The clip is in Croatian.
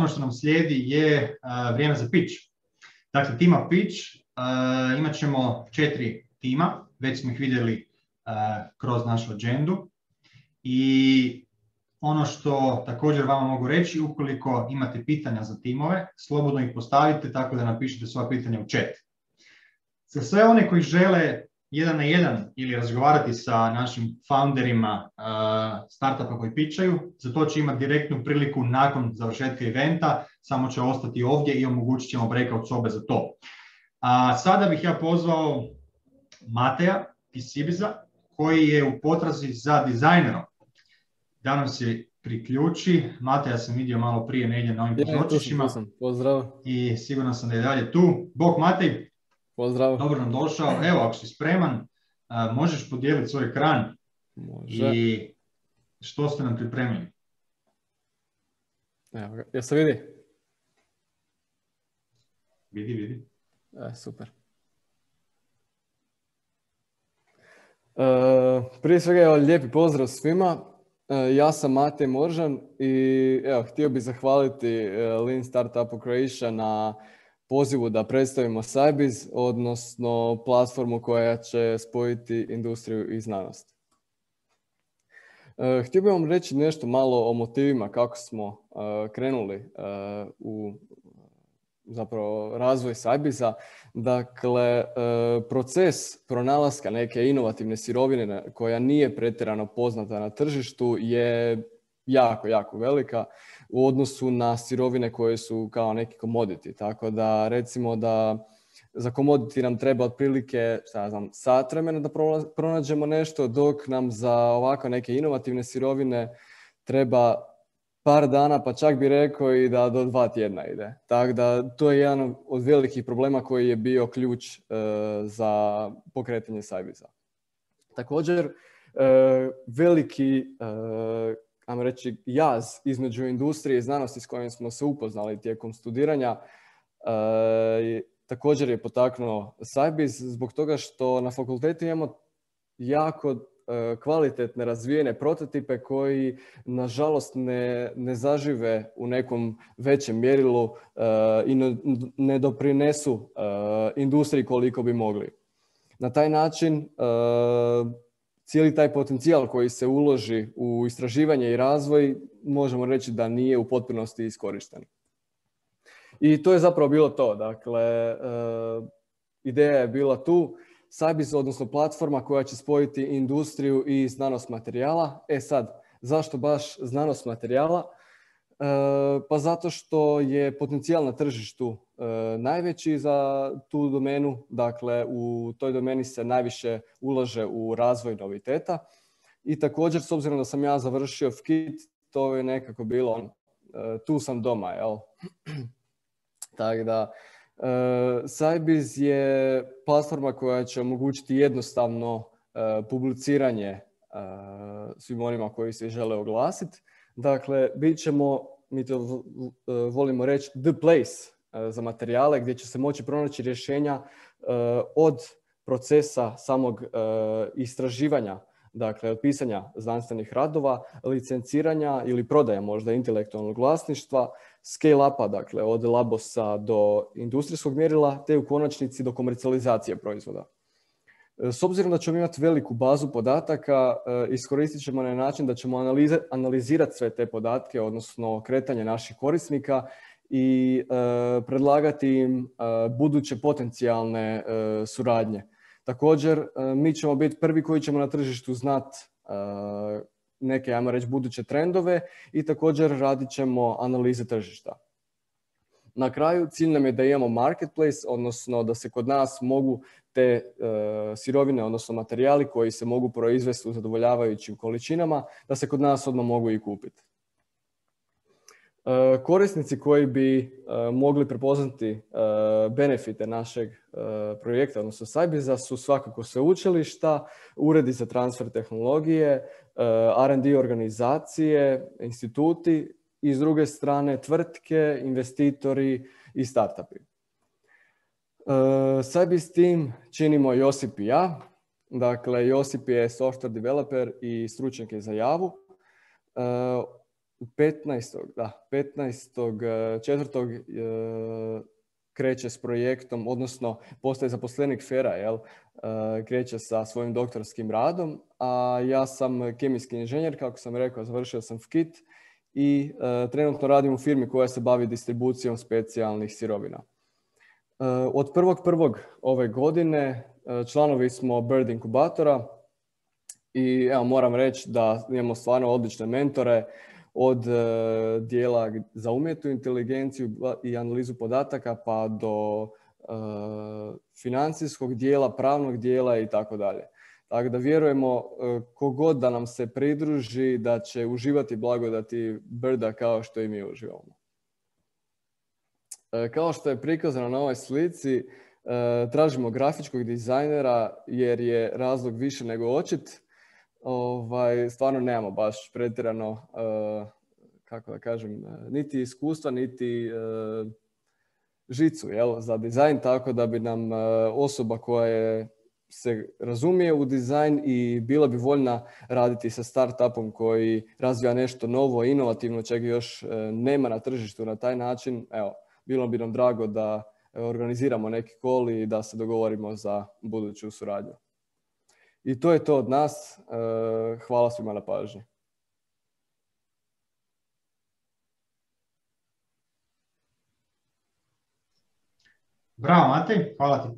što nam slijedi je vrijeme za pitch. Dakle, tima pitch, imat ćemo 4 tima, već smo ih vidjeli kroz našu agendu. I ono što također vama mogu reći, ukoliko imate pitanja za timove, slobodno ih postavite tako da napišete svoja pitanja u chat. Za sve one koji žele 1 na 1 ili razgovarati sa našim founderima startupa koji pitchaju, za to će imati direktnu priliku nakon završetka eventa, samo će ostati ovdje i omogućit ćemo breakout sobe za to. A sada bih ja pozvao Mateja iz Sibiza, koji je u potrazi za dizajnerom, da nam se priključi. Mateja sam vidio malo prije negdje na ovim pozorčićima. Pozdrav. I siguran sam da je dalje tu. Bog Matej. Pozdrav. Dobro nam došao. Evo, ako si spreman, možeš podijeliti svoj ekran. Može. I što ste nam pripremili? Evo ga. Jel se vidi? Vidi. Super. Prije svega, evo, lijepi pozdrav svima. Ja sam Matej Moržan i evo, htio bih zahvaliti Lean Startup Croatia na pozivu da predstavimo Scibiz, odnosno platformu koja će spojiti industriju i znanost. Htio bih vam reći nešto malo o motivima kako smo krenuli u zapravo razvoj Scibiza. Dakle, proces pronalaska neke inovativne sirovine koja nije pretjerano poznata na tržištu je jako velika u odnosu na sirovine koje su kao neki commodity. Tako da recimo da za commodity nam treba otprilike sat vremena da pronađemo nešto, dok nam za ovako neke inovativne sirovine treba par dana, pa čak bi rekao i da do 2 tjedna ide. Tako da to je jedan od velikih problema koji je bio ključ za pokretanje Scibiza. Također, veliki ajmo reći, jaz između industrije i znanosti s kojim smo se upoznali tijekom studiranja također je potaknuo Scibiz zbog toga što na fakultetu imamo jako kvalitetne razvijene prototipe koji nažalost ne zažive u nekom većem mjerilu i ne doprinesu industriji koliko bi mogli. Na taj način cijeli taj potencijal koji se uloži u istraživanje i razvoj možemo reći da nije u potpunosti iskorišten. I to je zapravo bilo to. Dakle, ideja je bila tu. Scibiz, odnosno platforma koja će spojiti industriju i znanost materijala. Sad, zašto baš znanost materijala? Pa zato što je potencijal na tržištu najveći za tu domenu. Dakle, u toj domeni se najviše ulaže u razvoj noviteta. I također, s obzirom da sam ja završio FKIT, to je nekako bilo tu sam doma, jel? Tako da, Scibiz je platforma koja će omogućiti jednostavno publiciranje svim onima koji se žele oglasiti. Dakle, bit ćemo, mi to volimo reći, the place za materijale gdje će se moći pronaći rješenja od procesa samog istraživanja, dakle od pisanja znanstvenih radova, licenciranja ili prodaja možda intelektualnog vlasništva, scale-upa, dakle od labosa do industrijskog mjerila, te u konačnici do komercijalizacije proizvoda. S obzirom da ćemo imati veliku bazu podataka, iskoristit ćemo na način da ćemo analizirati sve te podatke, odnosno kretanje naših korisnika i predlagati im buduće potencijalne suradnje. Također, mi ćemo biti prvi koji ćemo na tržištu znati neke, ajmo reći, buduće trendove i također radit ćemo analize tržišta. Na kraju, cilj nam je da imamo marketplace, odnosno da se kod nas mogu te sirovine, odnosno materijali koji se mogu proizvesti u zadovoljavajućim količinama, da se kod nas odmah mogu i kupiti. Korisnici koji bi mogli prepoznati benefite našeg projekta, odnosno Scibiza, su svakako sveučilišta, uredi za transfer tehnologije, R&D organizacije, instituti i s druge strane tvrtke, investitori i startupi. Scibiz team činimo Josip i ja. Dakle, Josip je software developer i stručnjak je za Javu. 15.4. Kreće s projektom, odnosno postaje zaposlenik FER-a, kreće sa svojim doktorskim radom, a ja sam kemijski inženjer, kako sam rekao, završio sam FKIT i trenutno radim u firmi koja se bavi distribucijom specijalnih sirovina. Od 1.1. ove godine članovi smo Bird inkubatora i evo, moram reći da imamo stvarno odlične mentore, od dijela za umjetnu inteligenciju i analizu podataka pa do financijskog dijela, pravnog dijela i tako dalje. Tako da vjerujemo kogod da nam se pridruži da će uživati blagodati Birda kao što i mi uživamo. Kao što je prikazano na ovoj slici, tražimo grafičkog dizajnera jer je razlog više nego očit. Stvarno nemamo baš pretjerano, kako da kažem, niti iskustva, niti žicu za dizajn, tako da bi nam osoba koja se razumije u dizajn i bila bi voljna raditi sa startupom koji razvija nešto novo, inovativno, čega još nema na tržištu na taj način. Evo, bilo bi nam drago da organiziramo neki call i da se dogovorimo za buduću suradnju. I to je to od nas. Hvala svima na pažnji. Bravo, Matej, hvala ti puno.